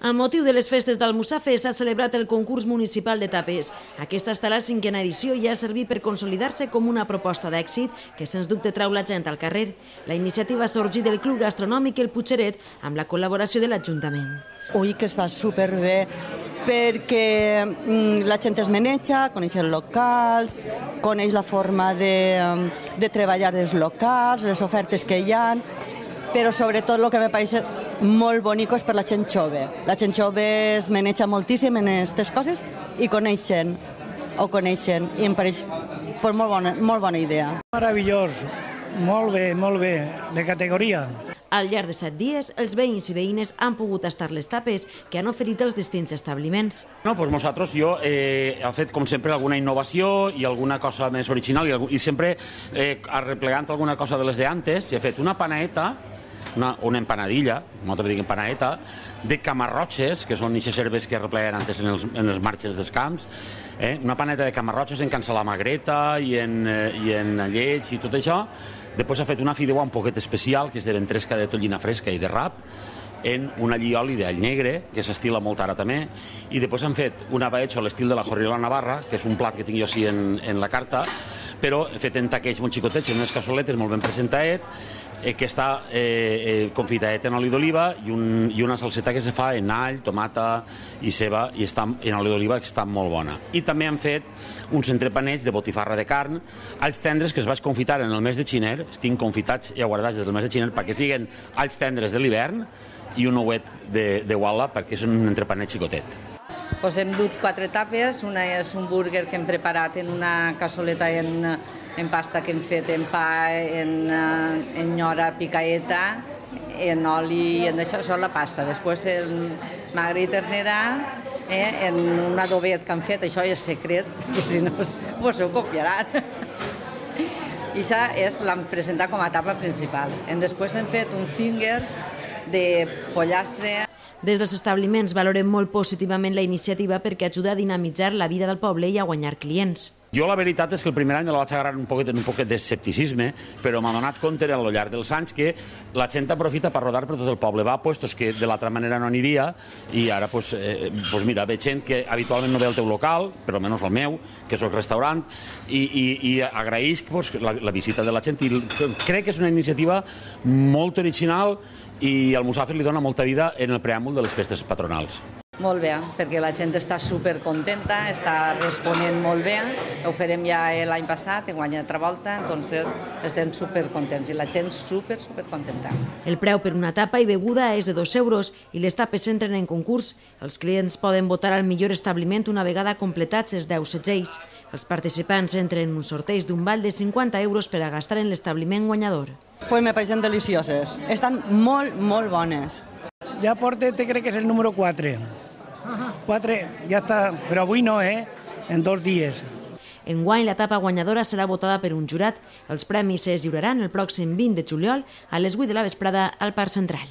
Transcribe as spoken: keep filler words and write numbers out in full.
Amb motiu de les festes d'Almussafes s'ha celebrat el concurs municipal de tapes. Aquesta està la cinquena edició i ha servit per consolidar-se com una proposta d'èxit que sens dubte trau la gent al carrer. La iniciativa ha sorgit del Club Gastronòmic El Putxeret amb la col·laboració de l'Ajuntament. Ui, que està superbé, perquè la gent es maneja, coneix els locals, coneix la forma de, de treballar dels locals, les ofertes que hi ha, però sobretot el que me pareix molt bonic és per la gent jove. La gent jove es maneja moltíssim en aquestes coses i coneixen, o coneixen, i em pareix pues, molt, bona, molt bona idea. Meravellós, molt bé, molt bé, de categoria. Al llarg de set dies, els veïns i veïnes han pogut tastar les tapes que han oferit els distints establiments. No, pues nosaltres, jo eh, he fet, com sempre, alguna innovació i alguna cosa més original i, i sempre eh, arreplegant alguna cosa de les d'antes. He fet una panaeta, una, una empanadilla, nosaltres diguem panaeta, de camarrotxes, que són aquestes herbes que arrepleguen antes en els, en els marges dels camps, eh? Una paneta de camarrotxes en cansalamagreta i en, eh, i en lleig i tot això. Després ha fet una fideuà un poquet especial, que és de ventresca de tonyina fresca i de rap, en un allioli d'all negre, que s'estila molt ara també, i després han fet una baetxa a l'estil de la Jorriola Navarra, que és un plat que tinc jo així en, en la carta, però fet en taquells molt xicotets, en unes cassoletes molt ben presentaet, eh, que està eh, eh, confitaet en oli d'oliva i, un, i una salseta que se fa en all, tomata i ceba, i està en oli d'oliva, que està molt bona. I també han fet uns entrepanets de botifarra de carn, alls tendres que es vaig confitar en el mes de xiner, estic confitats i aguardats des del mes de xiner perquè siguin alls tendres de l'hivern i un ouet de, de guala perquè és un entrepanet xicotet. Pues hem dut quatre tapes, una és un búrguer que hem preparat en una cassoleta en, en pasta que hem fet en pa, en, en nyora picaeta, en oli, en això, això és la pasta. Després el magre i ternera, eh, en un adobet que han fet, això és secret, perquè si no vos ho copiaran. I això l'hem presentat com a tapa principal. En després hem fet un fingers de pollastre. Des dels establiments valorem molt positivament la iniciativa perquè ajuda a dinamitzar la vida del poble i a guanyar clients. Jo la veritat és que el primer any la vaig agarrar un poquet, un poquet d'escepticisme, però m'ha donat compte al llarg dels anys que la gent aprofita per rodar per tot el poble. Va a puestos que de l'altra manera no aniria i ara, pues, eh, pues mira, ve gent que habitualment no ve al teu local, però almenys el meu, que soc restaurant, i, i, i agraïsc pues, la, la visita de la gent i crec que és una iniciativa molt original i al Almussafes li dona molta vida en el preàmbul de les festes patronals. Molt bé, perquè la gent està supercontenta, està responent molt bé. Ho farem ja l'any passat, en guanya altra volta, entonces estem supercontents i la gent super, supercontenta. El preu per una tapa i beguda és de dos euros i les tapes s'entren en concurs. Els clients poden votar al millor establiment una vegada completats els deu segells. Els participants entren en un sorteig d'un val de cinquanta euros per a gastar en l'establiment guanyador. Pues me pareixen delicioses. Estan molt, molt bones. Ja porta, te crec que és el número quatre. quatre, ja està, però avui no, eh? En dos dies. Enguany, la tapa guanyadora serà votada per un jurat. Els premis es lliuraran el pròxim vint de juliol a les vuit de la vesprada al Parc Central.